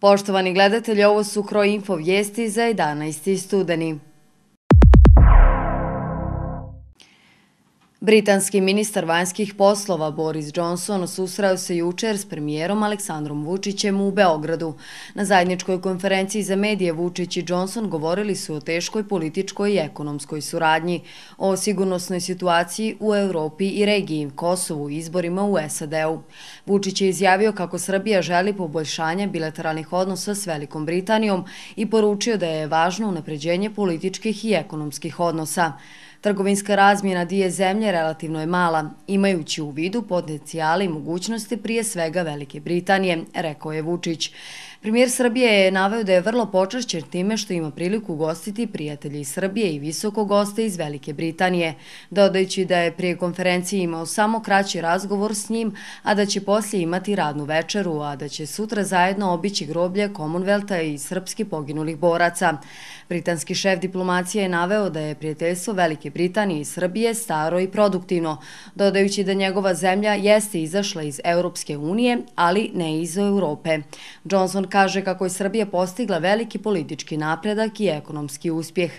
Poštovani gledatelji, ovo su Kroinfo vijesti za 11. studeni. Britanski ministar vanjskih poslova Boris Johnson susreo se jučer s premijerom Aleksandrom Vučićem u Beogradu. Na zajedničkoj konferenciji za medije Vučić i Johnson govorili su o teškoj političkoj i ekonomskoj suradnji, o sigurnosnoj situaciji u Europi i regiji, Kosovu i izborima u SAD-u. Vučić je izjavio kako Srbija želi poboljšanje bilateralnih odnosa s Velikom Britanijom i poručio da je važno unapređenje političkih i ekonomskih odnosa. Trgovinska razmjena dvije zemlje relativno je mala, imajući u vidu potencijale i mogućnosti prije svega Velike Britanije, rekao je Vučić. Premijer Srbije je naveo da je vrlo počašćen time što ima priliku ugostiti prijatelje iz Srbije i visoko goste iz Velike Britanije, dodajući da je prije konferencije imao samo kraći razgovor s njim, a da će poslije imati radnu večeru, a da će sutra zajedno obići groblje Commonwealtha i srpski poginulih boraca. Britanski šef diplomacije je naveo da je prijateljstvo Velike Britanije i Srbije staro i produktivno, dodajući da njegova zemlja jeste izašla iz Europske unije, ali ne iz Europe. Johnson kaže kako je Srbija postigla veliki politički napredak i ekonomski uspjeh.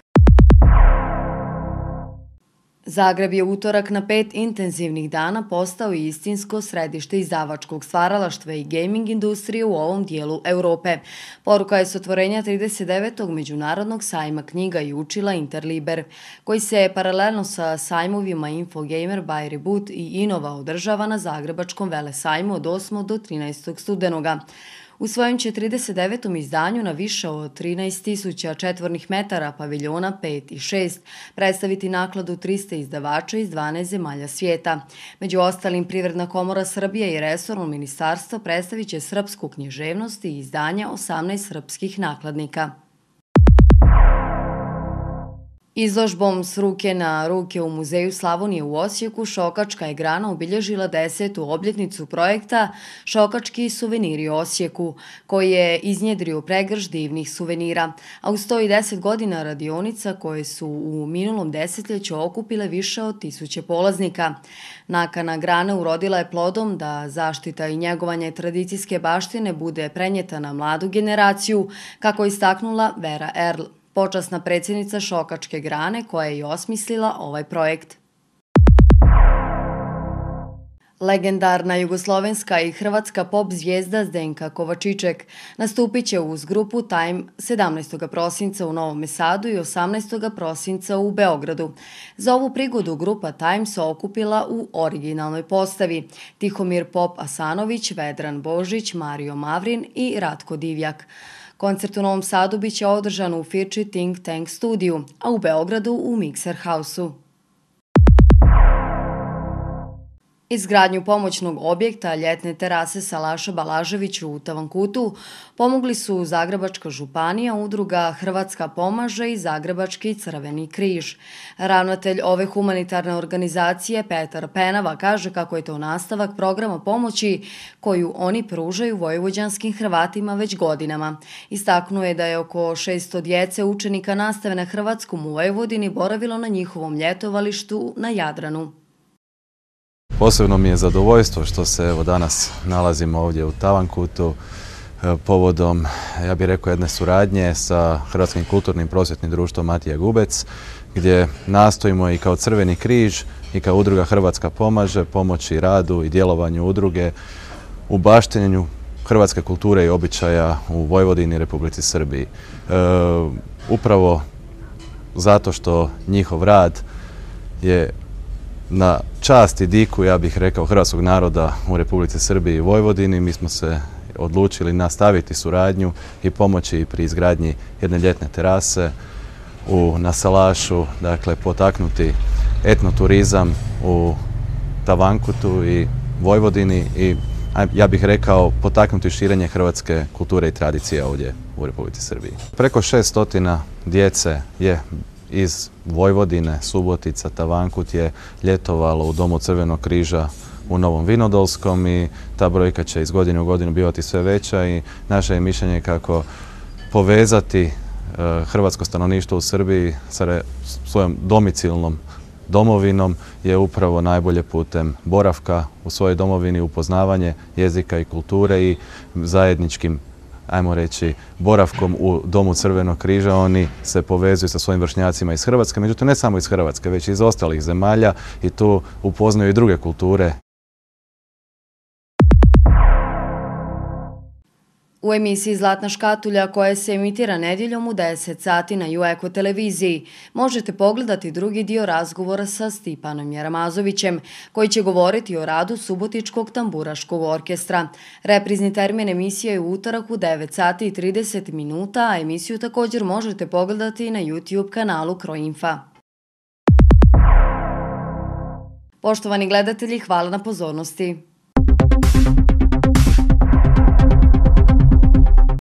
Zagreb je utorak na 5 intenzivnih dana postao istinsko središte izdavačkog stvaralaštva i gaming industrije u ovom dijelu Europe. Poruka je s otvorenja 39. međunarodnog sajma knjiga i učila Interliber, koji se paralelno sa sajmovima Infogamer, By Reboot i Innova održava na Zagrebačkom velesajmu od 8. do 13. studenoga. U svojem će 39. izdanju na više od 13.000 četvornih metara paviljona 5 i 6 predstaviti nakladu 300 izdavača iz 12 zemalja svijeta. Među ostalim, Privredna komora Srbije i resorno ministarstvo predstavit će srpsku književnost i izdanja 18 srpskih nakladnika. Izložbom S ruke na ruke u Muzeju Slavonije u Osijeku Šokačka je grana obilježila 10. obljetnicu projekta Šokački suveniri Osijeku, koji je iznjedrio pregršt divnih suvenira, a uz 110 godina radionica koje su u minulom desetljeću okupile više od 1000 polaznika. Nakana grane urodila je plodom da zaštita i njegovanje tradicijske baštine bude prenijeta na mladu generaciju, kako je istaknula Vera Erl, počasna predsjednica Šokačke grane koja je i osmislila ovaj projekt. Legendarna jugoslovenska i hrvatska pop zvijezda Zdenka Kovačiček nastupit će uz grupu Time 17. prosinca u Novom Sadu i 18. prosinca u Beogradu. Za ovu prigodu grupa Time se okupila u originalnoj postavi: Tihomir Pop Asanović, Vedran Božić, Mario Mavrin i Ratko Divjak. Koncert u Novom Sadu biće održan u Firči Think Tank studiju, a u Beogradu u Mixer House-u. Izgradnju pomoćnog objekta ljetne terase Salaša Balaževića u Tavankutu pomogli su Zagrebačka županija, udruga Hrvatska pomaže i Zagrebački Crveni križ. Ravnatelj ove humanitarne organizacije Petar Penava kaže kako je to nastavak programa pomoći koju oni pružaju vojvođanskim Hrvatima već godinama. Istaknuo je da je oko 600 djece učenika nastave na hrvatskom u Vojvodini boravilo na njihovom ljetovalištu na Jadranu. Posebno mi je zadovoljstvo što se danas nalazimo ovdje u Tavankutu povodom, ja bih rekao, jedne suradnje sa Hrvatskim kulturnim prosvjetnim društvom Matija Gubec, gdje nastojimo i kao Crveni križ i kao udruga Hrvatska pomaže pomoći radu i djelovanju udruge u baštenju hrvatske kulture i običaja u Vojvodini i Republici Srbiji. Upravo zato što njihov rad je na čast i diku, ja bih rekao, hrvatskog naroda u Republici Srbiji i Vojvodini, mi smo se odlučili nastaviti suradnju i pomoći pri izgradnji jedne ljetne terase na Salašu, dakle potaknuti etnoturizam u Tavankutu i Vojvodini i, ja bih rekao, potaknuti širenje hrvatske kulture i tradicije ovdje u Republici Srbiji. Preko 600 djece je iz Vojvodine, Subotica, Tavankut je ljetovalo u Domu Crvenog križa u Novom Vinodolskom i ta brojka će iz godine u godinu bivati sve veća i naše je mišljenje kako povezati hrvatsko stanovništvo u Srbiji sa svojom domicilnom domovinom je upravo najbolje putem boravka u svojoj domovini, upoznavanje jezika i kulture i zajedničkim ajmo reći, boravkom u Domu Crvenog križa. Oni se povezuju sa svojim vršnjacima iz Hrvatske, međutim ne samo iz Hrvatske, već i iz ostalih zemalja i tu upoznaju i druge kulture. U emisiji Zlatna škatulja, koja se emitira nedjeljom u 10 sati na UEKO televiziji, možete pogledati drugi dio razgovora sa Stipanom Jeramazovićem, koji će govoriti o radu Subotičkog tamburaškog orkestra. Reprizni termin emisije je u utorak u 9 sati i 30 minuta, a emisiju također možete pogledati na YouTube kanalu Croinfa. Poštovani gledatelji, hvala na pozornosti.